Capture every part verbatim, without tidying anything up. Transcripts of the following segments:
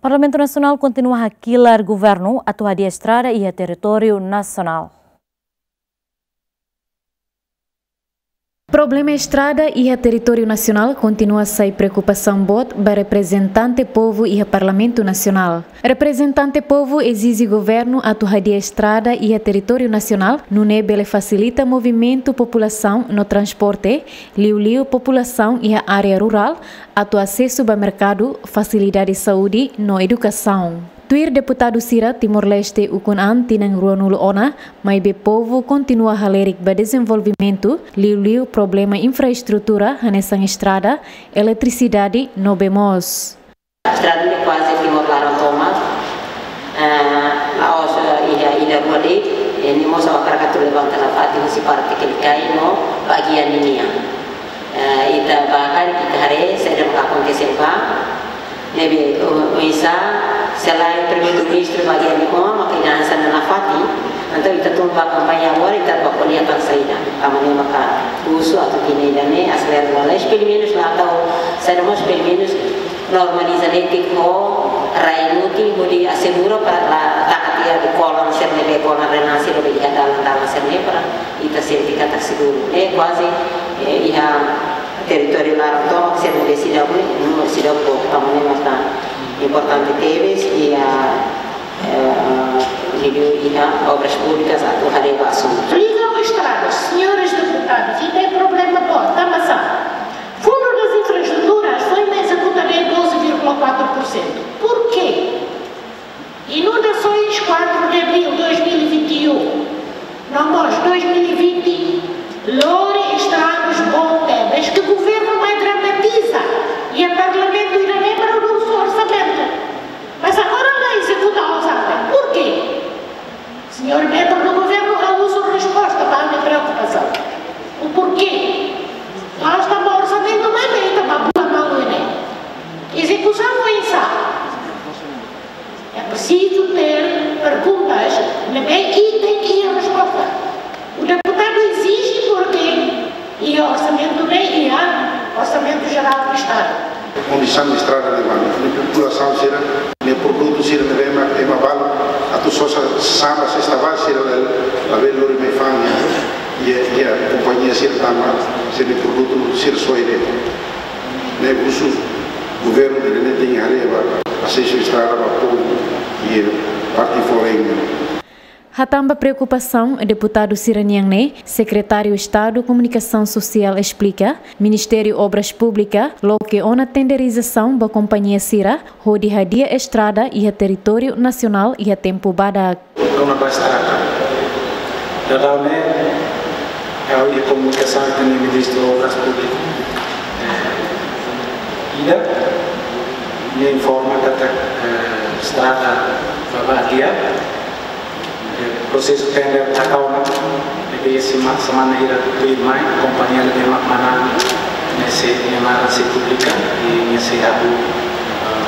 Parlamentu Nasionál kontinua hakilar governu atu hadi'a estrada iha territóriu nasionál. Problema estrada iha territóriu nasionál kontinua sai preokupasaun boot ba reprezentante povu iha Parlamentu Nasionál. Reprezentante povu ezije governu atu hadi'a estrada iha territóriu nasionál, nune'e bele fasilita movimentu populasaun no transporte, liuliu populasaun iha área rurál, atu asesu ba merkadu, fasilidade saúde no edukasaun. Tuir deputadu sira, Timor-Leste ukun an tinan ruanulu ona, maibé povu kontinua halerik ba dezenvolvimentu, liuliu problema infraestrutura hanesan estrada, eletrisidade no bee moos. Estrada ne'e kuaze Timor laran tomak, eh, la'ós, eh, iha ida rua de'it, eh, ne'e mós ha'u hakarak atu levanta nafatin husi parte Kelikai no bagian ninian. Eh, ita bá karik ita haree saida mak akontese ba, ne'ebé, o, oinsá, se lae Primeiru-Ministru bagian ne'e ona, maka ida hanesan ne'e nafatin, entaun ita tun ba kampaña agora, ita bá ko'alia tan saida, tanba ne'e maka husu atu tinan ida-ne'e, aselera lalais, pelumenus la tau, saida mós pelumenus normaliza netik ho rai mutin, hodi asegura para la taka tiha kolan sira ne'ebé kolan renasir ne'ebé iha dalan-dalan sira ne'e para ita sente katak seguru. Ne'e kuaze, eh, iha territóriu laran tomak sira ne'ebé seidauk ne'e, no seidauk boot, tanba ne'e maka importante tebes iha, eh, liuliu iha Obras Públicas atu haree ba asuntu. Liga ao estradas, senhores deputados, e tem problema boot, tanba sá? Fundo das Infraestruturas foin ezekutadu em doze vírgula quatro por cento. Por quê? Inundações, quatro de abril de dois mil e vinte e um, no mós dois mil e vinte, lori estragus boot tebes, ke governu mai dramatiza, iha Parlamentu ida-ne'e para husu orsamentu. Mas agora la ezekuta orsamentu. Por quê? Senhor membru do governu, ha'u husu resposta ba ha'u-nia preokupasaun. O porquê? La'ós tanba orsamentu, maibé ita bá bula malu ne'e. Ezekusaun oinsá? É preciso ter perguntas, ne'ebé, e tem que ir resposta. O deputadu exige porque iha orsamentu ne'e, iha Orsamentu Jerál do Estadu. Kondisaun estrada ne'ebá, ne'e populasaun sira, ne'e produtu sira ne'ebé ema, ema balu atu sosa samba sesta ba sira la, labele lori mai fa'an iha, iha, iha kompañia sira tanba sira-nia produtu sira soe de'it. Ne'e husu governu ida-ne'e tenke haree ba asesu estrada ba povu iha parte foreign. Hatán ba preokupasaun deputadu sira-nian ne'e, Sekretáriu Estadu Komunikasaun Sosiál esplika, Ministériu Obras Públikas loke ona tenderizasaun ba kompañia sira, hodi hadi'a estrada iha territóriu nasionál iha tempu badak. Rona ba estrada. Daudaun ne'e, ha'u iha komunikasaun ho Ministru Obras Públikas. Eh, ida, nia informa katak, eh, estrada bá ba hadi'a. Prosesu tender taka ona, ne'ebé sema-, semana hira tuirmai, kompañia ne'ebé mak manán ne'e sei, nia naran sei publika, i nia sei halo, eh,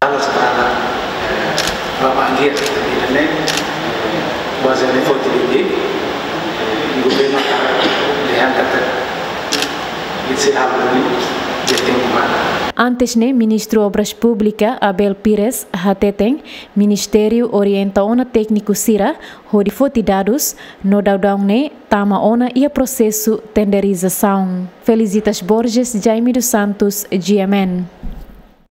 halo estrada, eh, bá ba hadi'a, ne'e, eh, kuaze ne'e foti de'it, eh, i governu dehan katak nia sei halo duni iha tempu badak. Antes ne'e, Ministru Obras Públikas, Abel Pires, hateten, Ministériu orienta ona tékniku sira hodi foti dadus, no daudaun ne'e tama ona iha prosesu tenderizasaun. Felicitas Borges, Jaime dos Santos, G M N.